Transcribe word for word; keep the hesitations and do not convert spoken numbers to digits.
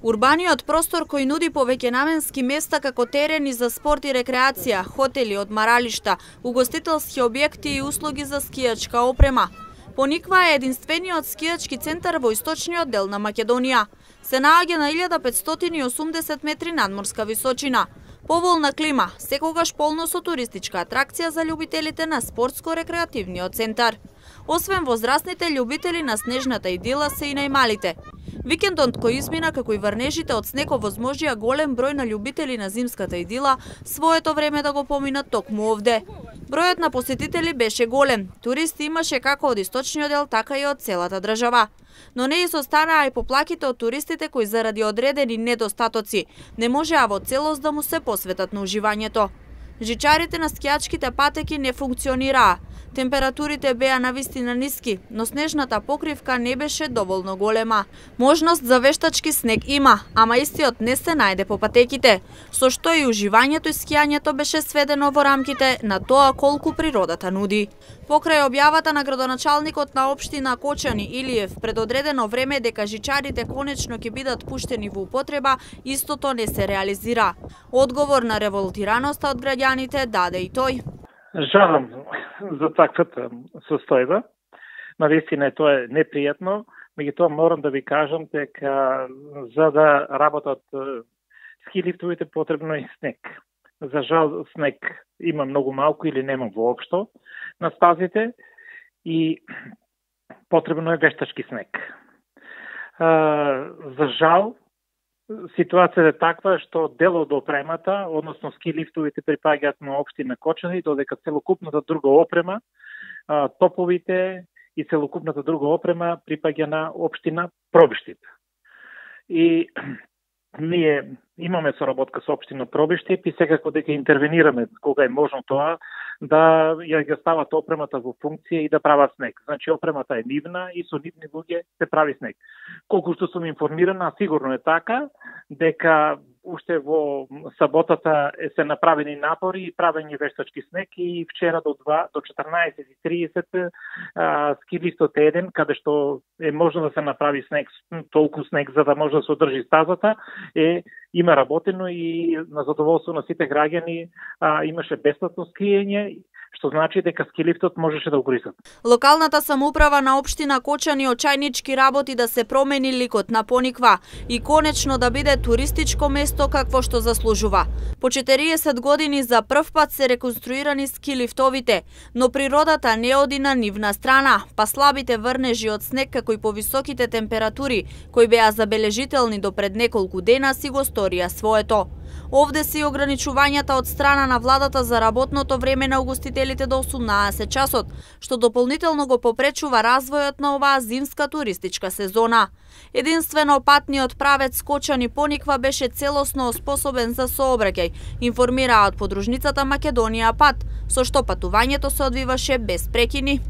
Урбаниот простор кој нуди повеќенаменски места како терени за спорт и рекреација, хотели, одмаралишта, угостителски објекти и услуги за скијачка опрема. Пониква е единствениот скијачки центар во источниот дел на Македонија. Се наоѓа на илјада петстотини и осумдесет метри надморска височина. Поволна клима, секогаш полно со туристичка атракција за љубителите на спортско-рекреативниот центар. Освен возрастните љубители на снежната идила се и најмалите. Викендот кој измина како и врнежите од снег овозможија голем број на љубители на зимската идила своето време да го поминат токму овде. Бројот на посетители беше голем, туристи имаше како од источниот дел, така и од целата држава. Но не изостанаа и поплаките од туристите кои заради одредени недостатоци не можеа во целост да му се посветат на уживањето. Жичарите на скијачките патеки не функционираа. Температурите беа навистина ниски, но снежната покривка не беше доволно голема. Можност за вештачки снег има, ама истиот не се најде по патеките, со што и уживањето и скијањето беше сведено во рамките на тоа колку природата нуди. Покрај објавата на градоначалникот на општина Кочани Илиев пред одредено време дека жичарите конечно ќе бидат пуштени во употреба, истото не се реализира. Одговор на револтираноста од граѓаните даде и тој. Жалам за таквата состојба. Навистина тоа е непријатно, меѓутоа морам да ви кажам дека за да работат ски лифтовите потребно е снег. За жал снег има многу малку или нема воопшто на стазите и потребно е вештачки снег. За жал ситуацијата е таква што дел од опремата, односно ски лифтовите припаѓаат на општина Кочани, додека целокупната друга опрема, топовите и целокупната друга опрема припаѓа на општина Пробиштип. И ние имаме соработка со општина Пробиштип и секако дека интервенираме кога е можно тоа, да ја ги стават опремата во функција и да прават снег. Значи опремата е нивна и со нивни луѓе се прави снег. Колку што сум информирана, сигурно е така, дека уште во саботата се направени напори и правење вештачки снег и вчера до два до четрнаесет и тридесет ски лифтот е еден каде што е можно да се направи снег, толку снег за да може да се одржи стазата, е има работено и на задоволство на сите граѓани а, имаше бесплатно скијање, што значи дека ски лифтот можеше да го користат. Локалната самоуправа на општина Кочани очајнички работи да се промени ликот на Пониква и конечно да биде туристичко место какво што заслужува. По четириесет години за прв пат се реконструирани ски лифтовите, но природата не оди на нивна страна, па слабите врнежи од снег како и повисоките температури кои беа забележителни до пред неколку дена си го сторија своето. Овде се и ограничувањата од страна на владата за работното време на угостителите до осумнаесет часот, што дополнително го попречува развојот на оваа зимска туристичка сезона. Единствено патниот правец Кочани Пониква беше целосно способен за сообраќај, информираа од подружницата Македонија Пат, со што патувањето се одвиваше без прекини.